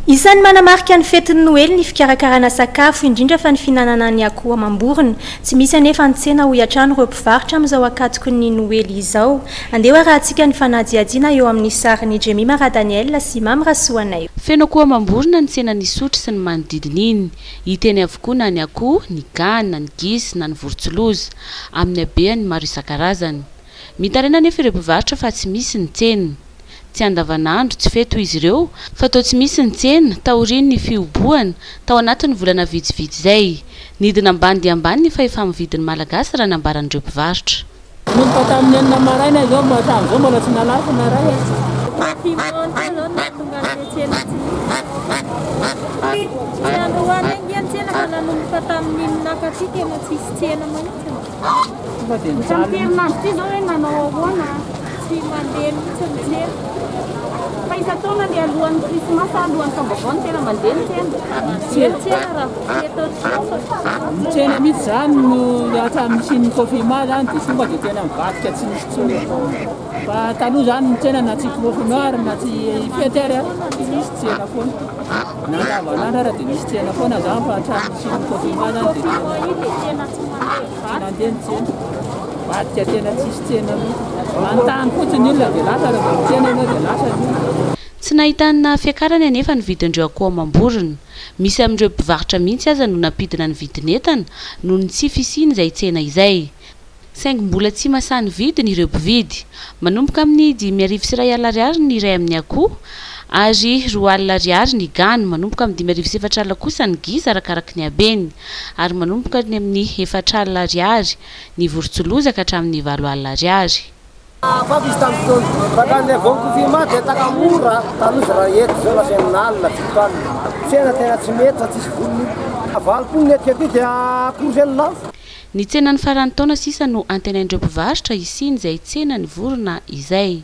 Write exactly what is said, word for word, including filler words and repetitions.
Isan'ny manamarika ny fetin'ny Noely ny fikarakarana sakafo, indrindra fa ny fihinanana ny akoho amam-borona. Tsy misy anefa ny tsena, hoy hatrany ireo mpivarotra, amin'izao ankatoky ny Noely izao. Andeha arahantsika ny fanadihadiana eo amin'ny sarin'i Jemima Radaniel sy Mamy Rasoanay. Feno akoho amam-borona ny tsenan'Isotry sy ny manodidina iny. Hita eny avokoa na ny akoho, ny gana, ny gisa na ny vorontsiloza, amin'ny habeany maro isan-karazany. Mitaraina anefa ireo mpivarotra fa tsy misy ny tsena. Tsy andavanandro, tsy fety izy ireo, fa toa tsy misy ny tsena taorian'ny fihobohana tao anatin'ny volana vitsivitsy izay. Nidina ambany dia ambany ny fahefa-mividin'ny Malagasy raha nambaran'ireo mpivarotra. Nanomboka tamin'ny enina maraina izao mba hatramin'izao mbola tsy nalafo na iray. Confinement zao no nahatonga an'ilay tsena tsy misy. Tsy androany ange ny tsena fa nanomboka tamin'iny nakaty tena tsisy tsena mihitsy. Tonga dia Tamin'ny nijaly. herinandro ity zao hoe nanao ahoana, tsy mandeha mihitsy ny tsena. Fa isan-taona le alohan'ny Krismasy, alohan'ny taom-baovao no tena mandeha ny tsena. Mandeha ny tsena raha vao fety ohatr'izao. Ny tsena mihitsy zany no hatramin'ny nisian'ny confinement zany dia tonga dia tena mivadika tsy misy intsony. Fa taloha zany ny tsena na tsy confinement ary na tsy fety ary dia misy tsena foana. Na andavanandro ary dia misy tsena foana zany, fa hatramin'ny nisian'ny confinement zany dia Confinement io dia tena tsy mandeha. Tsy nandeha ny tsena. Mivadika tena tsisy tsena mihitsy. Manontany fotsiny ny olona dia lasa, raha vao mitsena ianao dia lasa ny olona. Tsy nahitana fiakarany anefa ny vidin'ireo akoho amam-borona. Misy amin'ireo mpivarotra mihitsy aza no nampidina ny vidin'entana noho ny tsy fisian'izay tsena izay. Saingy mbola tsy mahasahy vidiny ireo mpividy. Manomboka amin'ny dimy arivo sy iray alina ariary ny iray amin'ny akoho ary roa alina ariary ny gana. Manomboka amin'ny dimy arivo sy efatra alina kosa ny gisa arakaraky ny habeny. Ary manomboka ny amin'ny efatra alina ariary ny vorontsiloza ka hatramin'ny valo alina ariary. Afaka izy tamin'ny fotoana fa hatramin'ilay vao confinement dia taka mora taloha raha eto zao lasa enina alina, fito alina. Tsena tena tsy mety fa tsisy volony. Valopolo ny etika aty dia akoho zay no lafo. Ny tsenan'ny faran'ny taona sisa no antenain'ireo mpivarotra hisian'izay tsena ny vorona izay.